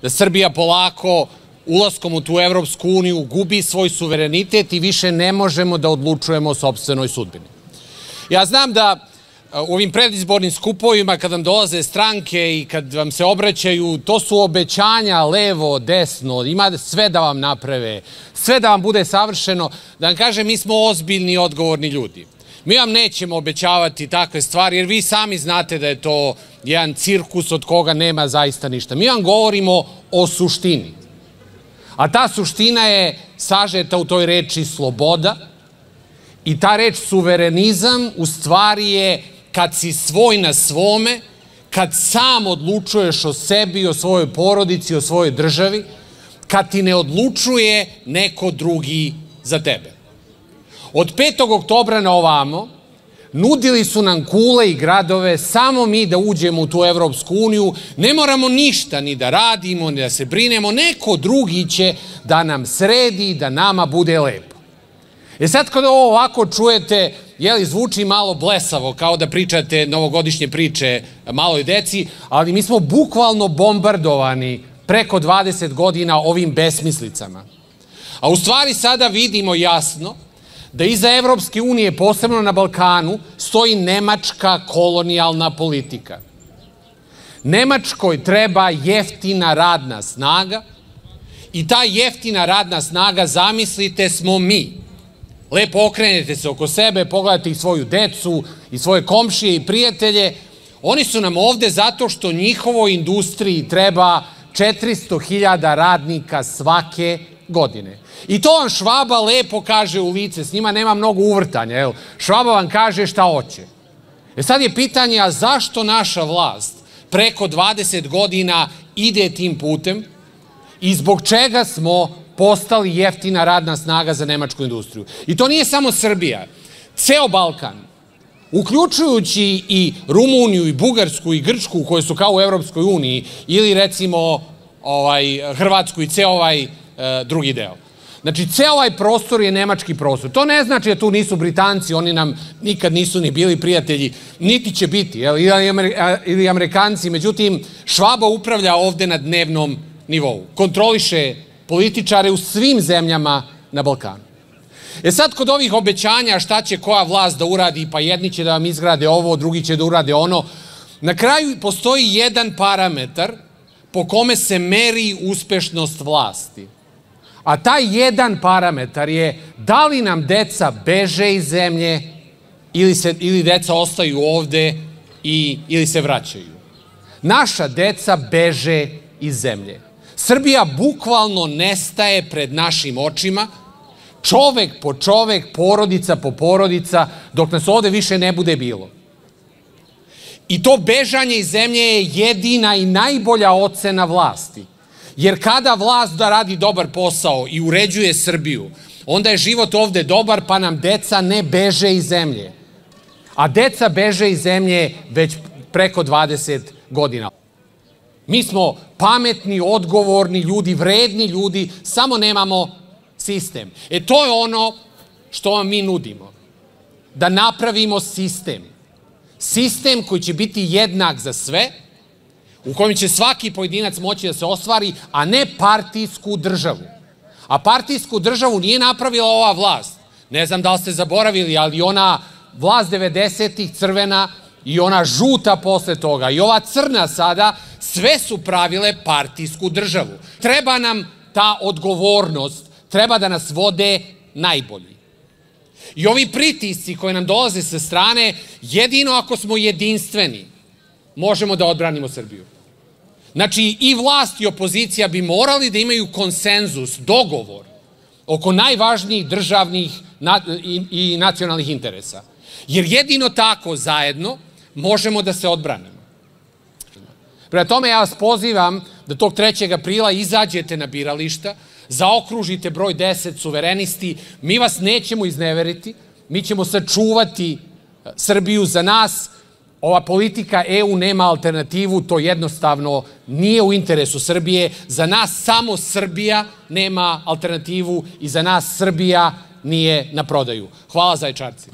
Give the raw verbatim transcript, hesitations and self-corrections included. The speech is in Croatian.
da Srbija polako ulaskom u tu Evropsku uniju gubi svoj suverenitet i više ne možemo da odlučujemo o sopstvenoj sudbini. Ja znam da u ovim predizbornim skupovima kad vam dolaze stranke i kad vam se obraćaju, to su obećanja levo, desno, ima sve da vam naprave, sve da vam bude savršeno. Da vam kažem, mi smo ozbiljni i odgovorni ljudi. Mi vam nećemo obećavati takve stvari, jer vi sami znate da je to jedan cirkus od koga nema zaista ništa. Mi vam govorimo o suštini. A ta suština je sažeta u toj reči sloboda i ta reč suverenizam u stvari je kad si svoj na svome, kad sam odlučuješ o sebi, o svojoj porodici, o svojoj državi, kad ti ne odlučuje neko drugi za tebe. Od petog oktobra na ovamo nudili su nam kule i gradove, samo mi da uđemo u tu Evropsku uniju, ne moramo ništa ni da radimo, ni da se brinemo, neko drugi će da nam sredi, da nama bude lepo. E sad kada ovo ovako čujete, jeli, zvuči malo blesavo, kao da pričate novogodišnje priče maloj deci, ali mi smo bukvalno bombardovani preko dvadeset godina ovim besmislicama. A u stvari sada vidimo jasno da iza Evropske unije, posebno na Balkanu, stoji nemačka kolonijalna politika. Nemačkoj treba jeftina radna snaga i ta jeftina radna snaga, zamislite, smo mi. Lepo okrenete se oko sebe, pogledate i svoju decu, i svoje komšije i prijatelje. Oni su nam ovde zato što njihovoj industriji treba četiristo hiljada radnika svake godine. I to vam Švaba lepo kaže u lice, s njima nema mnogo uvrtanja. Jel? Švaba vam kaže šta hoće. E sad je pitanje, a zašto naša vlast preko dvadeset godina ide tim putem i zbog čega smo postali jeftina radna snaga za nemačku industriju? I to nije samo Srbija. Ceo Balkan, uključujući i Rumuniju, i Bugarsku, i Grčku, koje su kao u Evropskoj uniji, ili recimo ovaj, Hrvatsku i ceo ovaj drugi deo. Znači, ceo ovaj prostor je nemački prostor. To ne znači da tu nisu Britanci, oni nam nikad nisu ni bili prijatelji, niti će biti, jel? Ili Amerikanci. Međutim, Švaba upravlja ovde na dnevnom nivou. Kontroliše političare u svim zemljama na Balkanu. E sad, kod ovih obećanja šta će koja vlast da uradi, pa jedni će da vam izgrade ovo, drugi će da urade ono, na kraju postoji jedan parametar po kome se meri uspešnost vlasti. A taj jedan parametar je da li nam deca beže iz zemlje ili, se, ili deca ostaju ovde i, ili se vraćaju. Naša deca beže iz zemlje. Srbija bukvalno nestaje pred našim očima, čovek po čovek, porodica po porodica, dok nas ovde više ne bude bilo. I to bežanje iz zemlje je jedina i najbolja ocena vlasti. Jer kada vlast da radi dobar posao i uređuje Srbiju, onda je život ovde dobar, pa nam deca ne beže iz zemlje. A deca beže iz zemlje već preko dvadeset godina. Mi smo pametni, odgovorni ljudi, vredni ljudi, samo nemamo sistem. E to je ono što vam mi nudimo. Da napravimo sistem. Sistem koji će biti jednak za sve, u kojem će svaki pojedinac moći da se ostvari, a ne partijsku državu. A partijsku državu nije napravila ova vlast. Ne znam da li ste zaboravili, ali ona vlast devedesetih crvena i ona žuta posle toga i ova crna sada, sve su pravile partijsku državu. Treba nam ta odgovornost, treba da nas vode najbolji. I ovi pritisci koji nam dolaze sa strane, jedino ako smo jedinstveni, možemo da odbranimo Srbiju. Znači, i vlast i opozicija bi morali da imaju konsenzus, dogovor oko najvažnijih državnih i nacionalnih interesa. Jer jedino tako zajedno možemo da se odbranimo. Prema tome, ja vas pozivam da tog trećeg aprila izađete na birališta, zaokružite broj deset suverenisti, mi vas nećemo izneveriti, mi ćemo sačuvati Srbiju. Za nas ova politika E U nema alternativu, to jednostavno nije u interesu Srbije. Za nas samo Srbija nema alternativu i za nas Srbija nije na prodaju. Hvala, Zaječarci.